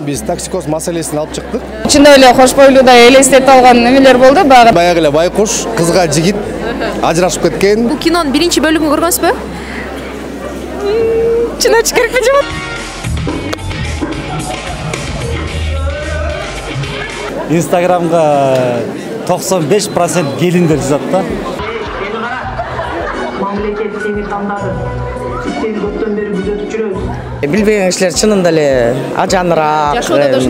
Биз токсикоз маселесин алып чыктык. Чындап эле кош бойлуудай элестетип алган немелер болду. Баягы эле байкуш, кызга жигит ажырашып кеткен. Бул кинонун биринчи бөлүгүн көргөнсүзбү? Чын айтыш керекпи жок? Инстаграмга 95% келиндер жазат да. Мамлекет сени тандады. Сиздерди көптөн бери күзөтүп жүрөбүз. Билбеген кишилер чынында эле ажаныраак,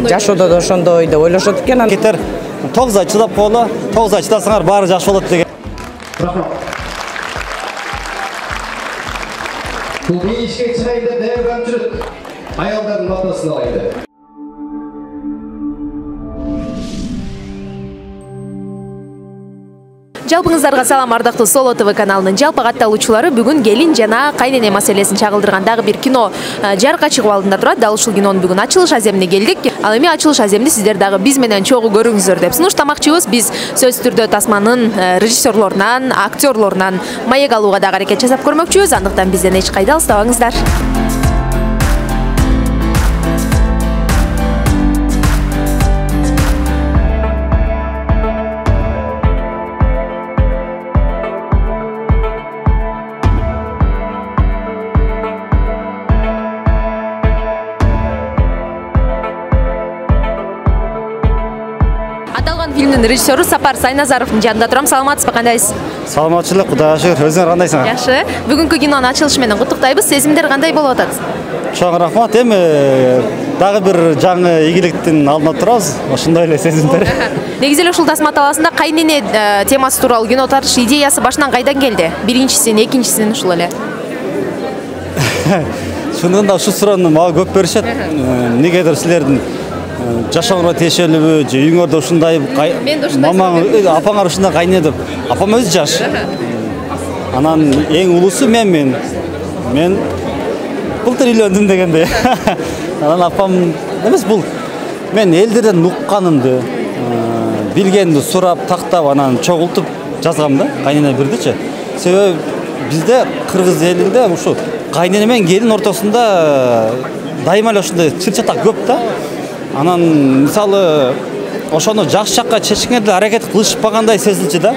жашоодо да ошондой деп ойлошот экен. Кетер 9 ай чыдап коелу, 9 ай чыдасаңар баары жакшы болот деген. Бул ишке чыгайын деп даярданып жүрөт. Аялдардын батасын алайын деп. Жалпыңыздарга салам, ардактуу Соло ТВ каналынын жалпы катталуучулары. Бүгүн келин жана кайнене маселесин чагылдырган дагы бир кино жарыкка чыгып алдында турат. Дал ушул кинонун бүгүн ачылыш аземине келдик. Ал эми ачылыш аземини сиздер дагы биз менен чогуу көрүңүздөр деп сунуштамакчыбыз. Биз сөзсүз түрдө тасманын режиссерлорунан, актерлорунан маек алууга дагы аракет жасап көрмөкчүбүз. Андыктан бизден эч кайда алыстабаңыздар. Фильмдин режиссеру Сапар Сайназаровдун жанында турам. Саламатсызбы, кандайсыз? Саламатчылык, Кудайга шүгүр. Өзүңөр кандайсыңар? Жакшы. Бүгүнкү кинонун ачылышы менен куттуктайбыз. Сезимдер кандай болуп атат? Чоң рахмат. Эми дагы бир жаңы ийгиликтин алдында турабыз. Ошондой эле сезимдер. Негизи эле ушул тасма талаасында кайнене темасы тууралуу кино тартыш идеясы башынан кайдан келди? Биринчисин, экинчисин ушул эле. Чындыгында ушул суроону мага көп беришет. Негедир силердин жашооңорго тиешелүүбү, же үйүңөрдө ушундай мамаң, апаңар ушундай кайне деп. Апам өзү жаш. Анан эң улуусу мен былтыр үйлөндүм дегендей. Анан апам эмес, бул мен элдерден укканымды, билгенди сурап, тактап, анан чогултуп жазгам да, кайнене бирдичи. Себеби бизде кыргыз элинде ушу кайнене менен келин ортосунда дайыма эле ушундай чыр-чатак көп да. Анан мисалы ошону жакшы жакка чечкенге деле аракет кылышпагандай сезилчү да.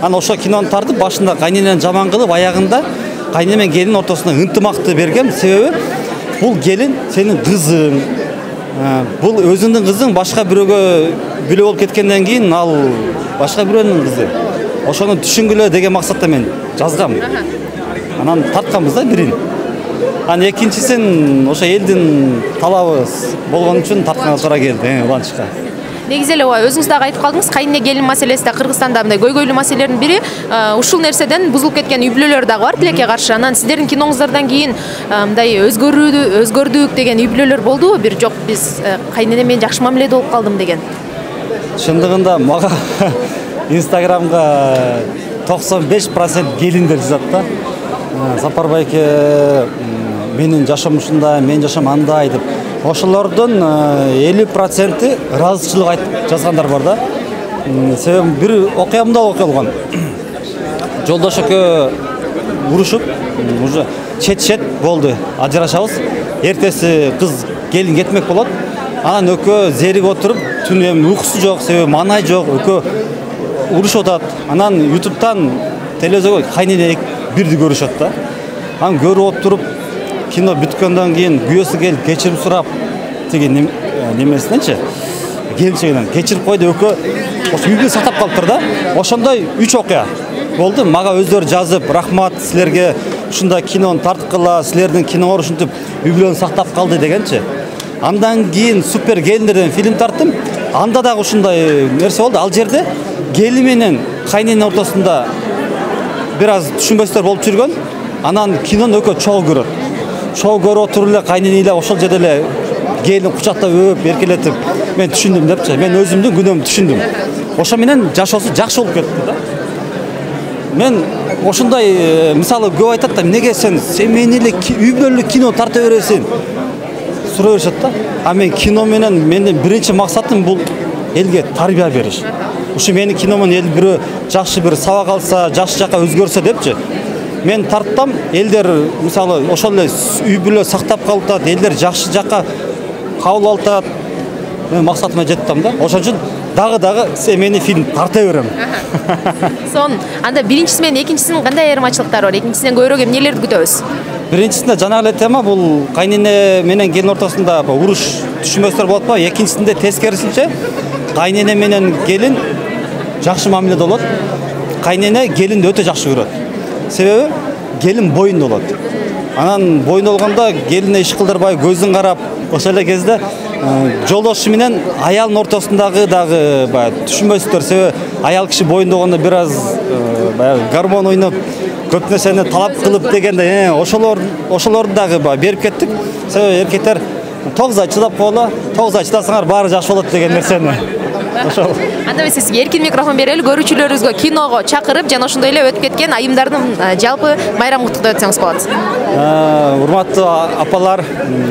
Анан ошо кинону тартып башында кайненени жаман кылып, аягында кайнене менен келин ортосунда ынтымакты бергем. Себеби бул келин сенин кызың. Бул өзүңдүн кызың башка бирөөгө бүлө болуп кеткенден кийин ал башка бирөөнүн кызы. Ошону түшүнгүлө деген максатта мен жазгам. Анан тартканбыз да бирин. Анан экинчисин ошо элдин талабы болгон үчүн тартканга туура келди, уланчка. Негизи эле өзүңүз дагы айтып калдыңыз, кайнене келин маселеси да Кыргызстанда мындай көйгөйлүү маселелердин бири. Ушул нерседен бузулуп кеткен үй бүлөлөр дагы бар тилекке каршы. Анан сиздердин киноңуздардан кийин мындай өзгөрдүк деген үй бүлөлөр болдубу? Бир жок, биз кайнене менен жакшы мамиледе болуп калдым деген. Чындыгында мага Инстаграмга 95% келиндер жазат да. Сапар байке, менин жашоом ушундай, мен жашоом андай деп. Ошолордун 50% ыраазычылык айтып жазгандар бар да. Себеби бир окуямда болгон. Жолдош экөө урушуп, уже чет болду, ажырашабыз. Эртеси кыз келин кетмек болот. Анан экөө зерик отуруп, түн эми уйкусу жок, себеби маанай жок, экөө урушуп атат. Анан YouTube'дан телевизорго кайнене бирди көрүшөт да. Анан көрүп отуруп, кино бүткөндөн кийин күйөөсү келип кечирим сурап, тиги немесиненчи, келинчегинен кечирип койду, экөө ошо үйдү сактап калыптыр да. Ошондой 3 окуя болду. Мага өздөрү жазып, рахмат силерге ушундай кинону тарткыла, силердин киноңор ушинтип үй бүлөнү сактап калды дегенчи. Андан кийин Супер келиндер деген фильм тарттым. Анда дагы ушундай нерсе болду. Ал жерде келин менен кайнененин ортосунда бир аз түшүнбөстөр болуп жүргөн. Анан кинону экөө чогуу көрөт. Чогуу көрүп отуруп эле кайнене эле ошол жерде эле келин кучактап өп, эркелетип, мен түшүндүм депчи. Мен өзүмдүн күнөөмдү түшүндүм. Ошо менен жашоосу жакшы болуп кетти да. Мен ошондой мисалы көп айтат да, неге сен семейный эле үй бүлөлүк кино тарта бересиң? Суроо беришет да. А мен кино менен мендин биринчи максатым бул элге тарбия бериш. Ушу менин киномон эл бирөө жакшы бир сабак алса, жакшы жакка өзгөрсө депчи. Мен тарттам, элдер мисалы ошол эле үй бүлө сактап калып атат, элдер жакшы жакка кабыл алып атат. мен максатыма жеттим да. Ошон үчүн дагы эмени фильм тарта берем. Сон анда биринчиси менен экинчисинин кандай айырмачылыктары бар? Экинчисинен көбүрөөк эмнелерди күтөбүз? Биринчисинде жана эле тема бул кайнене менен келин ортосунда уруш түшүнбөстөр болот ба? Экинчисинде тескерисинче кайнене менен келин жакшы мамиледе болот. Кайнене келинди өтө жакшы көрөт. Себеби келин боюнда болот. Анан боюнда болгондо келине иш кылдырбай көздүн карап, ошол эле кезде жолдошу менен аялдын ортосундагы дагы баягы түшүнбөстөр. Себеби аял киши боюнда болгондо бир аз баягы гормон ойноп, көп нерсени талап кылып дегенде, ошолорду дагы берип кеттик. Себеби эркектер 9 ай чыдап койгула, 9 ай чыдасаңар баары жакшы болот деген нерсени. Ошол. Анда биз сизге эркин микрофон берели, көрүүчүлөрүбүзгө киного чакырып, жана ошондой эле өтүп кеткен айымдардын жалпы майрамын куттуктап өтсөңүз болот. Урматтуу апалар,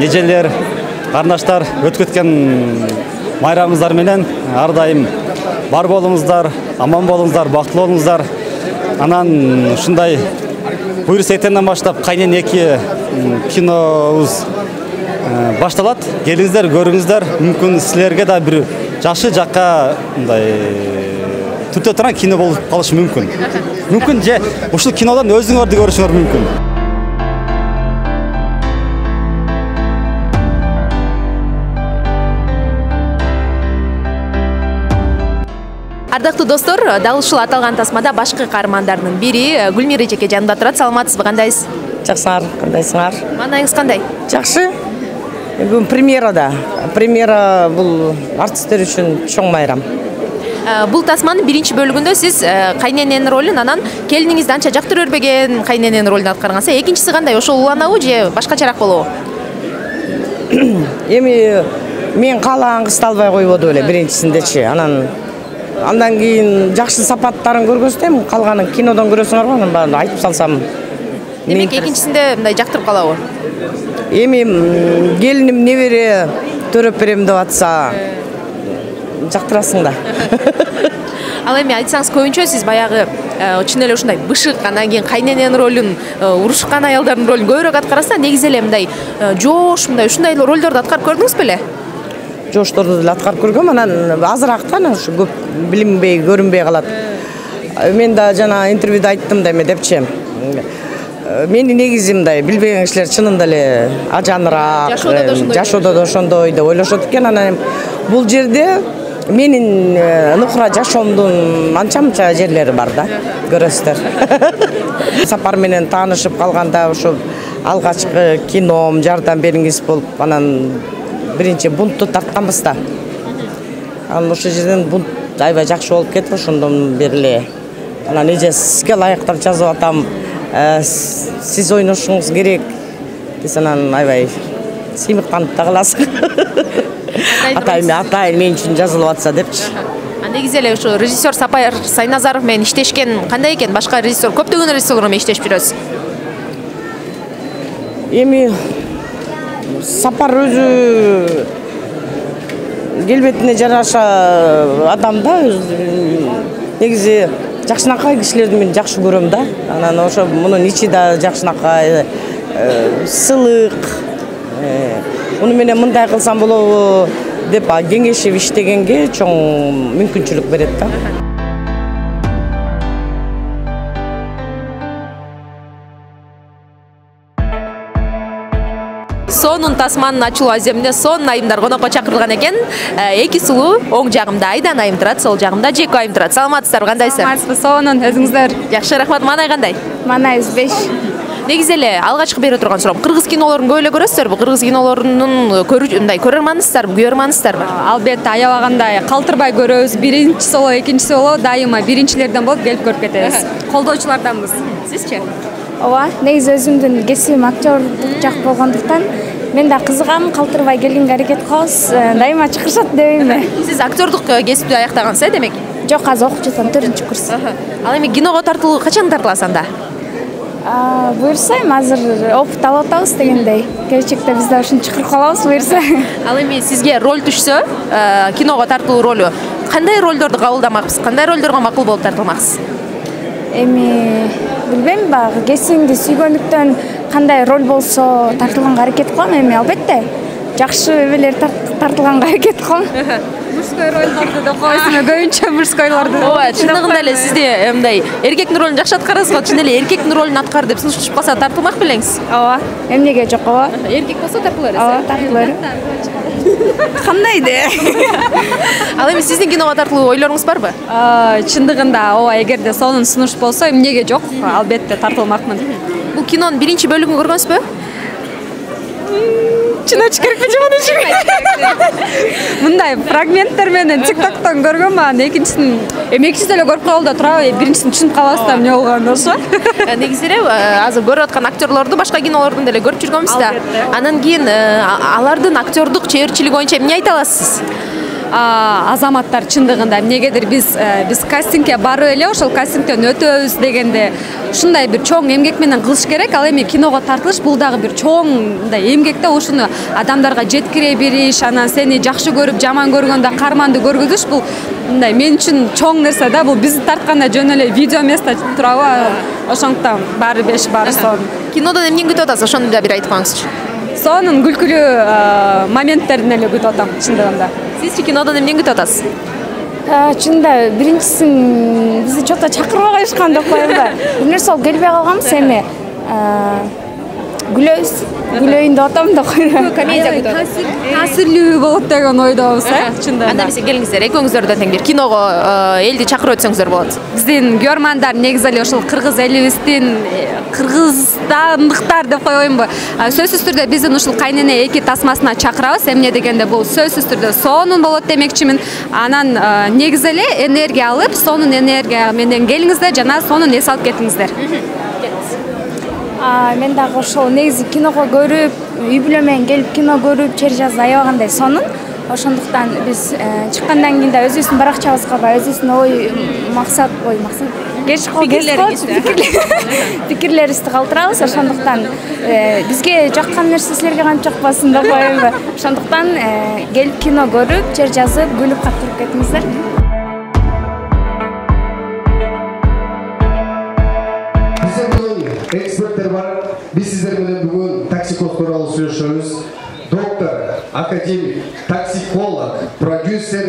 эжелер, карындаштар, өтүп кеткен майрамыңыздар менен ар дайым бар болуңуздар, аман болуңуздар, бактылуу болуңуздар. Анан ушундай буйруса эртеңден баштап Кайнене 2 кинобуз башталат. Келиңиздер, көрүңүздөр. Мүмкүн силерге да бир жакшы жакка мындай түтө турган кино болуп калышы мүмкүн. Мүмкүн же ушул кинодон өзүңөрдү көрүшүңөр мүмкүн. Ардактуу достор, дал ушул аталган тасмада башкы каармандардын бири Гүлмира эжеке жанымда турат. Саламатсызбы, кандайсыз? Жакшыңар, кандайсыңар? Маанайыңыз кандай? Жакшы. Бүгүн премьерада. Премьера бул артисттер үчүн чоң майрам. Бул тасманын биринчи бөлүгүндө сиз кайнененин ролун, анан келиниңизди анча жактырып бербеген кайнененин ролун аткаргансыз. Экинчиси кандай? Ошол уланабы же башкачараак болобу? Эми мен каалаган кызды албай койбоду эле биринчисиндечи. Андан кийин жакшы сапаттарын көргөзсөм, калганын кинодон көрөсүңөр го, анан баарын айтып салсам. Демек экинчисинде мындай жактырып калабы? Эми келиним небере төрөп берем деп атса, жактырасың да. Ал эми айтсаңыз, көбүнчө сиз баягы чын эле ушундай бышык, анан кийин кайнененин ролун, урушкан аялдардын ролун көбүрөөк аткарасыз, негизи эле мындай жоош, мындай ушундай ролдорду аткарып көрдүңүз беле? Жоошторду деле аткарып көргөм, анан азыраак да, ушу көп билинбей, көрүнбөй калат. Мен да жана интервьюда айттым да эме депчи. Менин негизи мындай билбеген кишилер чынында эле ажаныраак, жашоодо да ошондой деп ойлошот экен. Анан бул жерде менин нукура жашоомдун анча-мынча жерлери бар да, көрөсүздөр. Сапар менен таанышып калганда ошо алгачкы кином жардам бериңиз болуп, анан биринчи бунтту тартканбыз да. Анан ошол жерден бунт аябай жакшы болуп кетип, ошондон бери эле анан эже сизге ылайыктап жазып атам, сиз ойношуңуз керек десе, анан аябай сыймыктанып да каласың. Атайын мен үчүн жазылып атса депчи. Негизи эле ушу режиссер Сапар Сайназаров менен иштешкен кандай экен? Башка режиссер, көптөгөн режиссерлор менен иштешип жүрөсүз. Эми Сапар өзү келбетине жараша адам да, негизи жакшынакай кишилерди мен жакшы көрөм да. Анан ошо мунун ичи да жакшынакай, сылык. Муну менен мындай кылсам болобу деп кеңешип иштегенге чоң мүмкүнчүлүк берет да. Сонун тасманын ачылуу аземине сонун айымдар конокко чакырылган экен. Эки сулуу, оң жагымда Айдан айым турат, сол жагымда Жеко айым турат. Саламатсыздарбы, кандайсыздар? Саламатсызбы, сонун, өзүңүздөр? Жакшы, рахмат. Маанай кандай? Маанайыбыз 5. Негизи эле алгачкы бере турган суроом, кыргыз кинолорун көп эле көрөсүзөрбү? Кыргыз кинолорунун мындай көрөрмансыздарбы, күйөрмансыздарбы? Албетте, аябагандай калтырбай көрөбүз. Биринчиси болобу, экинчиси болобу, дайыма биринчилерден болуп келип көрүп кетебиз. Колдоочуларданбыз. Сизчи? Ооба, негизи өзүмдүн кесибим актерлук жак болгондуктан мен да кызыгам, калтырбай келгенге аракет кылабыз. Дайыма чакырышат дебейм. Сиз актерлук кесипти аяктагансыз, демек? Жок, азыр окуп жатам, 4-курс. Ал эми киного тартылуу качан тартыласыз анда? Буюрсайм, азыр опыт алып атабыз дегендей. Келечекте биз да ушуну чакырып калабыз, буюрса. Ал эми сизге роль түшсө, киного тартылуу ролу, кандай ролдорду кабылдамаксыз? Кандай ролдорго макул болуп тартылмаксыз? Эми билбейм, кесибимди сүйгөндүктөн кандай роль болсо тартылганга аракет кылам. Эми албетте жакшы эбелер тартылганга аракет кылам. Мужской ролдорду да койсуң, көбүнчө мужскойлорду. Ооба, чындыгында эле сизде мындай эркектин ролун жакшы аткарасыз го, чын эле эркектин ролун аткар деп сунушташып калса тартылмак белеңиз. Ооба, эмнеге жок, ооба. Эркек болсо тартыла бересиз. Ооба, тартыла берем. Кандай де? Ал эми сиздин киного тартылуу ойлоруңуз барбы? Чындыгында ооба, эгерде сонун сунуш болсо эмнеге жок, албетте тартылмакмын. Бул кинонун биринчи бөлүгүн көргөнсүзбү? Чын айтыш керекпи же муну? Мындай фрагменттер менен TikToктон көргөм, анан экинчисин экинчисин эле көрүп калды турабы, биринчисин түшүнүп калабыз да эмне болгонун ошо. Негизи эле азыр көрүп аткан актерлорду башка кинолордон деле көрүп жүргөнбүз да. Анан кийин алардын актердук чеберчилиги боюнча эмне айта аласыз? Азаматтар чындыгында эмнегедир биз кастингге барып эле ошол кастингден өтөбүз дегенде ушундай бир чоң эмгек менен кылыш керек. Ал эми киного тартылыш бул дагы бир чоң мындай эмгек да, ушуну адамдарга жеткире бериш, анан сени жакшы көрүп жаман көргөндө карманды көргүзүш, бул мындай мен үчүн чоң нерсе да. Бул бизди тартканда жөн эле видео эмес да турабы? Ошондуктан баары беш баары сон. Кинодон эмнени күтүп атасыз? Ошону да бир айтып коюңузчу. Сонун күлкүлүү моменттерин эле күтүп атам чындыгында. Сизчи кинодон эмнени күтүп атасыз? Чында биринчисин бизди чота чакырбай коюшкан деп коем да. Бир нерсе болуп келбей калганбыз, эми күлөйүн деп атам да коем. Комедия күтүп атасыз. Таасирлүү болот деген ойдобуз, чындыгында. Анда эмесе келиңиздер, экөөңүздөрдөн тең бир киного элди чакырып өтсөңүздөр болот. Биздин көрмандар негизи эле ошол кыргыз элибиздин кыргызстандыктар деп коеюнбу? Сөзсүз түрдө биздин ушул кайнене 2 тасмасына чакырабыз. Эмне дегенде бул сөзсүз түрдө сонун болот демекчимин. Анан негизи эле энергия алып, сонун энергия менен келиңиздер жана сонун эс алып кетиңиздер. Мен дагы ошол негизи киного көрүп, үй бүлө менен келип кино көрүп, чер жазып аябагандай сонун. Ошондуктан биз чыккандан кийин да өзүбүздүн баракчабызга өзүбүздүн пикирлерибизди калтырабыз. Ошондуктан бизге жаккан нерсе силерге кантип жакпасын деп коем. Ошондуктан келип кино көрүп, чер жазып, күлүп каттырып кетиңиздер. Эксперттер бар. Биз сиздер менен бүгүн токсикоз тууралуу сүйлөшөбүз. Доктор, академик, токсиколог, продюсер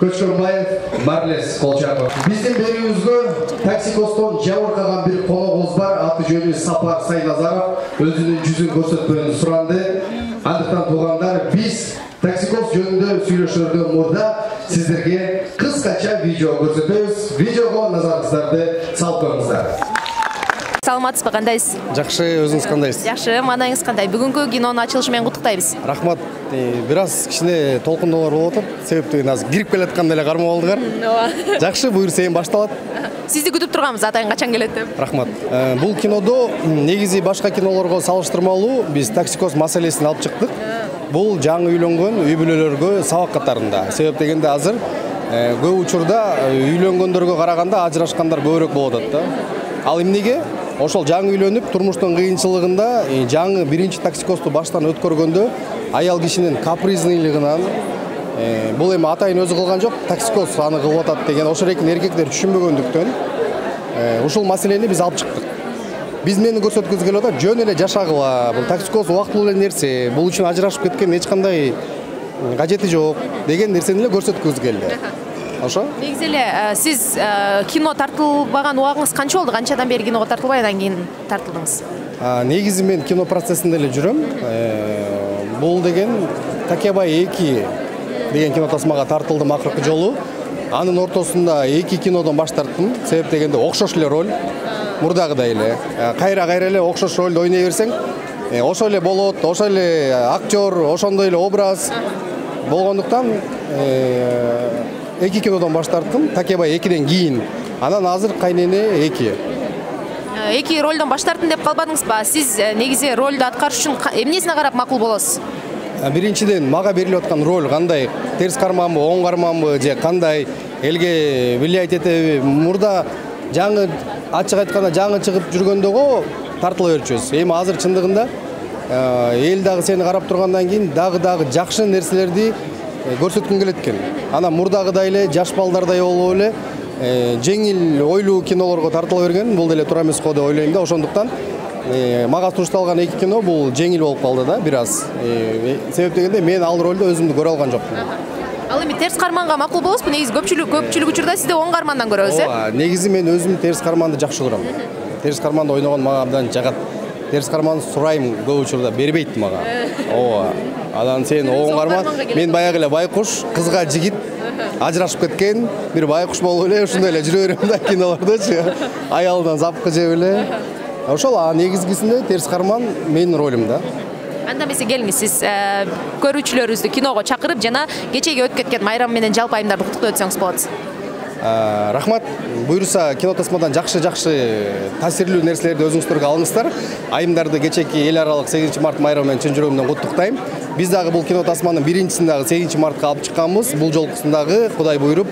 Көчкөнбаев Марлес Колчаков. Биздин берүүбүзгө токсикоздон жабыркаган бир коногубуз бар. Аты жөнү Сапар Сайназаров. Өзүнүн жүзүн көрсөтпөөнү суранды. Андыктан туугандар, биз токсикоз жөнүндө сүйлөшөрдөн мурда сиздерге кыскача видео көрсөтөбүз. Видеого назарыңыздарды салып коюңуздар. Саламатсызбы, кандайсыз? Жакшы, өзүңүз кандайсыз? Жакшы, маанайыңыз кандай? Бүгүнкү кинонун ачылышы менен куттуктайбыз. Рахмат. Бир аз кичине толкундоолор болуп атат. Себептен азыр кирип келатканда эле кармап алдыгар. Жакшы, буюрса эми башталат. Сизди күтүп турганбыз, атайын качан келет деп. Рахмат. Бул кинодо негизи башка кинолорго салыштырмалуу биз токсикоз маселесин алып чыктык. Бул жаңы үйлөнгөн үй бүлөлөргө сабак катарында. Себеп дегенде азыр көп учурда үйлөнгөндөргө караганда ажырашкандар көбүрөөк болуп атат да. Ал эмнеге? Ошол жаңы үйлөнүп, турмуштун кыйынчылыгында жаңы биринчи токсикозду баштан өткөргөндө аял кишинин капризнылыгынан бул эми атайын өзү кылган жок, токсикоз аны кылып атат деген ошол эркин эркектер түшүнбөгөндүктөн ушул маселени биз алып чыктык. Биз мени көрсөткүбүз келип атат, жөн эле жашагыла, бул токсикоз убактылуу эле нерсе, бул үчүн ажырашып кеткен эч кандай кажети жок деген нерсени эле көрсөткүбүз келди. Ошо? Негизи эле сиз кино тартылбаган убагыңыз канча болду? Канчадан бери киного тартылбай, андан кийин тартылдыңыз? Негизи мен кино процессинде эле жүрөм. Бул деген Такебай 2 деген кино тасмага тартылдым акыркы жолу. Анын ортосунда 2 кинодон баш тарттым. Себеп дегенде окшош эле роль. Мурдагыдай эле. Кайра эле окшош ролду ойной берсең, ошол эле болот, ошол эле актер, ошондой эле образ болгондуктан 2 кинодон баш тарттым, Такебай 2ден кийин. Анан азыр кайнене 2. 2 ролдон баш тарттым деп калбадыңызбы? Сиз негизи ролду аткарыш үчүн эмнесине карап макул болосуз? Биринчиден мага берилип аткан роль кандай? Терс карманбы, оң карманбы же кандай? Элге влиять этеби? Мурда жаңы ачык айтканда жаңы чыгып жүргөндөгө тартыла берчүбүз. Эми азыр чындыгында эл дагы сени карап тургандан кийин дагы жакшы нерселерди көрсөткүң келет экен. Анан мурдагыдай эле жаш балдардай болуп эле жеңил ойлуу кинолорго тартыла берген, бул деле туура эмес го деп ойлойм да. Ошондуктан мага сунушталган 2 кино бул жеңил болуп калды да бир аз. Себеп дегенде мен ал ролдо өзүмдү көрө алган жокмун. Ал эми терс карманга макул болосузбу? Негизи көпчүлүк учурда сизди оң кармандан көрөбүз, Ооба, негизи мен өзүм терс карманды жакшы көрөм. Терс карманда ойногон мага абдан жагат. Терс карманды сурайм көп учурда бербейт мага. Ооба. Анан сен оң карман, мен баягы эле байкуш, кызга жигит ажырашып кеткен, бир байкуш болуп эле ушундай эле жүрө берем да кинолордочу. Аялдан запкы жеп эле. Ошол негизгисинде терс карман менин ролум да. Анда эмесе келиңиз, сиз көрүүчүлөрүбүздү киного чакырып жана кечеги өтүп кеткен майрам менен жалпы айымдарды куттуктап өтсөңүз болот. Рахмат. Буюрса кино тасмадан жакшы таасирлүү нерселерди өзүңүздөргө алыңыздар. Айымдарды кечеки эл аралык 8 март майрамы менен чын жүрөгүмдөн куттуктайм. Биз дагы бул кино тасманын биринчисин дагы 8 мартка алып чыкканбыз. Бул жолкусун дагы Кудай буйруп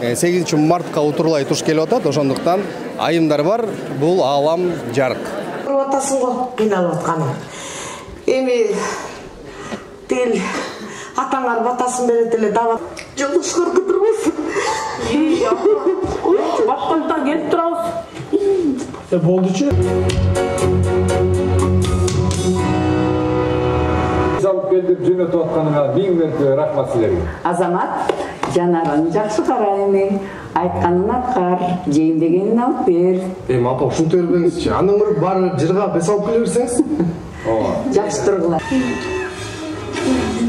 8 мартка утурлай туш келип атат. Ошондуктан айымдар бар, бул аалам жарык. Көрүп атасың го кыйналып атканын. Эми тил атаңар батасын берет эле дабы жолдошкор кыдырбайсың. Башкалдан келип турабыз. Болдучу. Алып келип жөнөтүп атканыңа 1000 мәртебе рахмат силерге. Азамат, жанарын жакшы карайм. Айтканын аткар, жейин дегенин алып бер. Апа, ушинте бербеңизчи. Андан көрүп баары жырга бес алып келе берсеңиз. Жакшы тургула.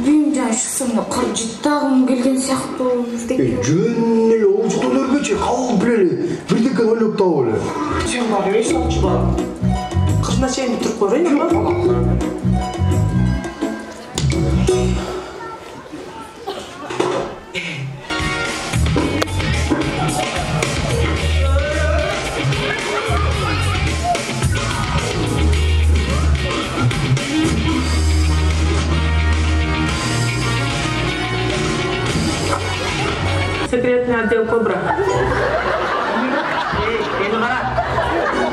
Бүйүм жана шусумда кыржыттагым келген сыяктуу. Жөн эле оочутун өрбөчү, калып билели. Бирдеке ойлоп табып эле. Сен бар эле сатчы бар. Кырына чейин туруп көрөйүн ба? Секретный отдел Кобра. Эни кара.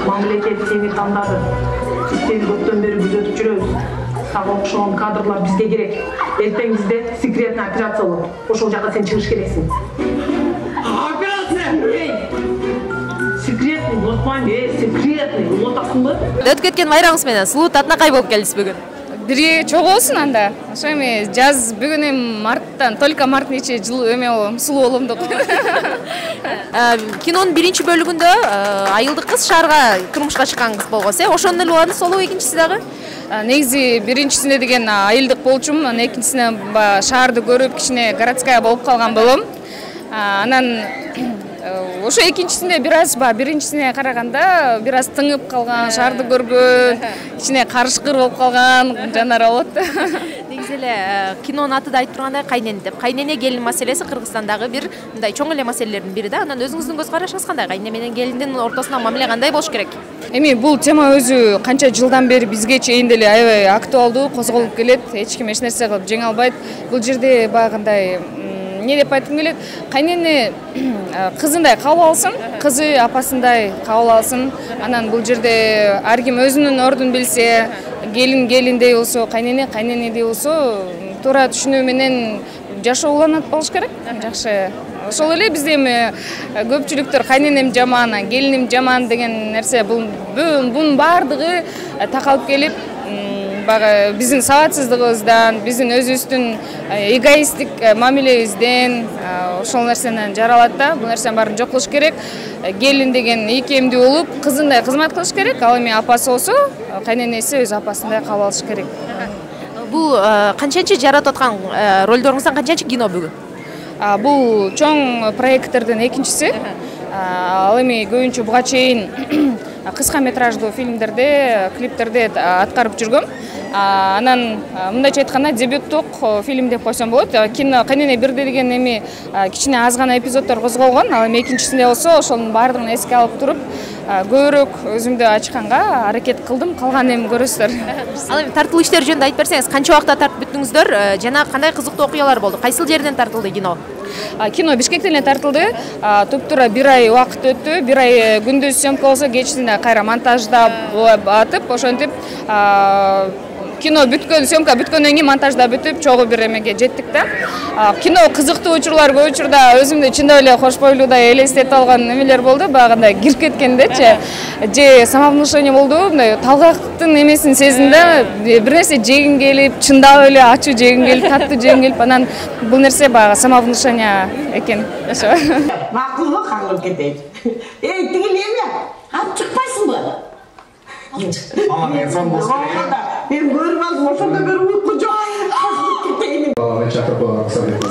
Мамлекет сени тандады. Сени көптөн бери күзөтүп жүрөбүз. Сага окшогон кадрлар бизге керек. Эртең бизде секретный операция болот. Ошол жака сен чыгыш керексиң. Операция! Секретный, унутпайм, секретный. Унутасыңбы? Өтүп кеткен майрамыңыз менен сулуу татынакай болуп келдиз бүгүн. Бирге чогуусун анда. Ошо эми жаз бүгүн эми марттан, только марттын ичи жылуу эме болом, сулуу болом деп. Кинонун биринчи бөлүгүндө айылдык кыз шаарга турмушка чыккан кыз болгонсуз, ошондон эле уланды солу экинчиси дагы. Негизи биринчисинде деген айылдык болчумун, анан экинчисине шаарды көрүп кичине городская болуп калган болом. Анан ошо экинчисинде бир аз биринчисине караганда бир аз тыңып калган, шаарды көргөн, кичине карышкыр болуп калган жанар болот. Негизи эле кинонун аты да айтып тургандай кайнене деп. Кайнене келин маселеси Кыргызстандагы бир мындай чоң эле маселелердин бири да. Анан өзүңүздүн көз карашыңыз кандай? Кайнене менен келиндин ортосундагы мамиле кандай болуш керек? Эми бул тема өзү канча жылдан бери бизге чейин деле аябай актуалдуу, козголуп келет. Эч ким эч нерсе кылып жеңе албайт. Бул жерде баягындай не деп айткым келет, кайнене кызындай кабыл алсын, кызы апасындай кабыл алсын. Анан бул жерде ар ким өзүнүн ордун билсе, келин келиндей болсо, кайнене кайненедей болсо, туура түшүнүү менен жашоо уланат болуш керек. Жакшы. Ошол эле бизде эми көпчүлүктөр кайненем жаман, келиним жаман деген нерсе бунун баардыгы такалып келип, биздин сабатсыздыгыбыздан, биздин өзүбүздүн эгоисттик мамилебизден ошол нерсенен жаралат да. Бул нерсенин баарын жок кылыш керек. Келин деген ийкемдүү болуп, кызындай кызмат кылыш керек. Ал эми апасы болсо, кайненеси өз апасындай кабыл алыш керек. Бул канчанчы жаратып аткан ролдоруңуздан канчанчы кино бүгүн? Бул чоң проекттердин экинчиси. Ал эми көбүнчө буга чейин кыска метраждуу фильмдерде, клиптерде аткарып жүргөм. Анан мындайча айтканда дебюттук фильм деп койсом болот. Кино Кайнене бирде деген эми кичине аз гана эпизоддор козголгон. Ал эми экинчисинде болсо ошонун баардыгын эске алып туруп, көбүрөөк өзүмдү ачканга аракет кылдым. Калган эми көрөсүздөр. Ал эми тартылуу иштер жөнүндө айтып берсеңиз, канча убакытта тартып бүттүңүздөр жана кандай кызыктуу окуялар болду? Кайсыл жерден тартылды кино? Кино Бишкектен эле тартылды. Туптура 1 ай убакыт өттү. 1 ай күндүз съемка болсо, кечинде кайра монтаждап атып, ошентип кино бүткөн, съемка бүткөндөн кийин монтажда бүтүп, чогуу бир эмеге жеттик да. Кино кызыктуу учурлар көп учурда өзүмдү чындап эле кош бойлуудай элестетип алган эмелер болду. Багында кирип кеткендечи, же самовнушение болду, мындай талгактын эмесин сездим да, бир нерсе жегим келип, чындап эле ачуу жегим келип, таттуу жегим келип, анан бул нерсе баягы самовнушение экен. Ошо. Макулбу, кагылып кетейин. Эй, тигил эме? Алып чыкпайсыңбы? Ага, мен сон болсун. Мен көрүп алдым, ошондо бир уйку жок. Баланы чакырып койгонго салет.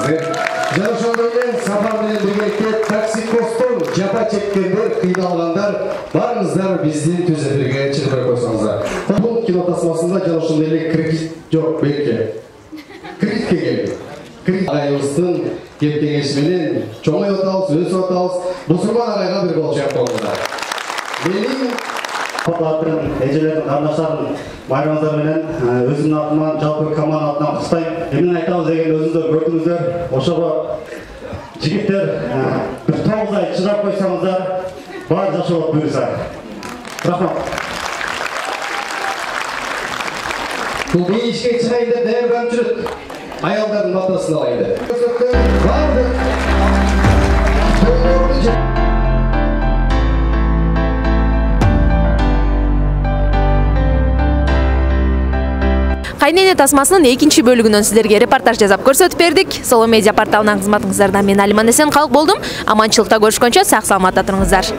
Жана ошондой эле сапар менен биргеликте токсикоздон жапа чеккендер, кыйналгандар барыңыздар биздин түзөтүүгө чыгып койсоңуздар. Бул кино тасмасында жана ошондой эле кредит жок белки. Кредитке келди. Кредит айыбыздын кеп-кеңеши менен чоңоюп атабыз, өсүп атабыз. Бусурман агайга бир кол чыгып коңуздар. Менин Папалардың, әжелердің, қарындаштардың байрамыңыздар менен өзімнің атыман, жалпы команданың атынан құттықтаймын. Мен айтамыз деген өзіңіздер көрдіңіздер. Ошого жігіттер бір 9 ай шыдап қойсаңыздар, бар жашап бұйырса. Рахмат. Бұл бейішке шығайын деп дәйірбан жүріп, аялдардың матасын алайды. Кайнене тасмасынын экинчи бөлүгүнөн сиздерге репортаж жасап көрсөтүп бердик. Соло медиа порталынан кызматыңыздарда мен Алиман Эсен калк болдум. Аманчылыкта көрүшкөнчө сак саламатта туруңуздар.